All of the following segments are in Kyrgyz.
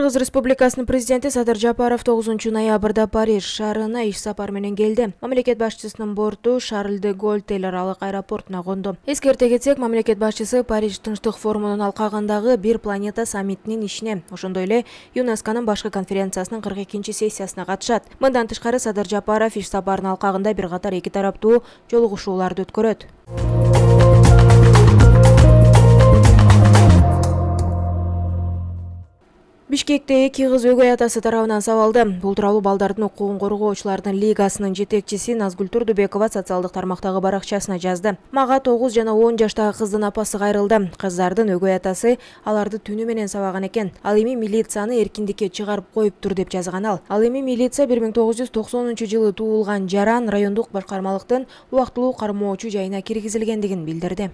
Кыргыз Республикасынын президенти Садыр Жапаров 9 ноябрда Париж шаарына иш сапар менен келди. Мамлекет башчысынын борту Шарль де Голль эл аралык аэропортуна конду. Эскерте кетсек, мамлекет башчысы Париж Тынчтык форумунун алкагындагы Бир планета саммитинин ишине, ошондой эле ЮНЕСКОнун башкы конференциясынын 42-сессиясына катышат. Мындан тышкары Садыр Жапаров иш сапарынын алкагында бир катар эки тараптуу жолугушууларды өткөрөт. Бишкекте эки кыз өгөй атасы тарабынан сабалды. Бул тууралуу балдардын укугун коргоочулардын лигасынын жетекчиси Назгүл Турдубекова социалдык тармактагы баракчасына жазды. Мага 9 жана 10 жаштагы кыздын апасы кайрылды. Кыздардын өгөй атасы аларды түнү менен сабаган экен. Ал эми милицияны эркиндикке чыгарып коюптур деп жазган ал. Ал эми милиция 1990-жылы туулган Жаран райондук башкармалыктын убактылуу кармоочу жайына киргизилгендигин билдирди.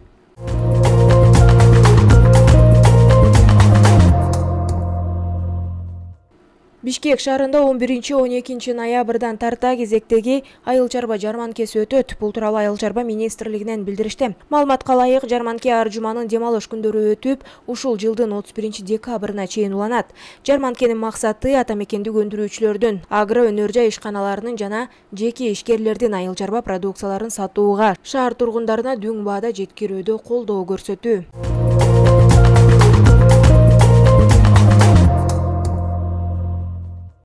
Бишкек шаарында 11-12 ноябрдан тарта кезектеги айыл чарба жарманкеси өтөт. Бул тууралуу айыл чарба министрлигинен билдиришти. Маалыматка ылайык, жарманке ар жуманын дем алыш күндөрү өтүп, ушул жылдын 31-декабрына чейин уланат. Жарманкенин максаты ата мекендик өндүрүүчүлөрдүн, агро өнөр жай ишканаларынын жана жеке ишкерлердин айыл чарба продукцияларын сатууга, шаар тургундарына дүң баада жеткирүүдө колдоо көрсөтүү.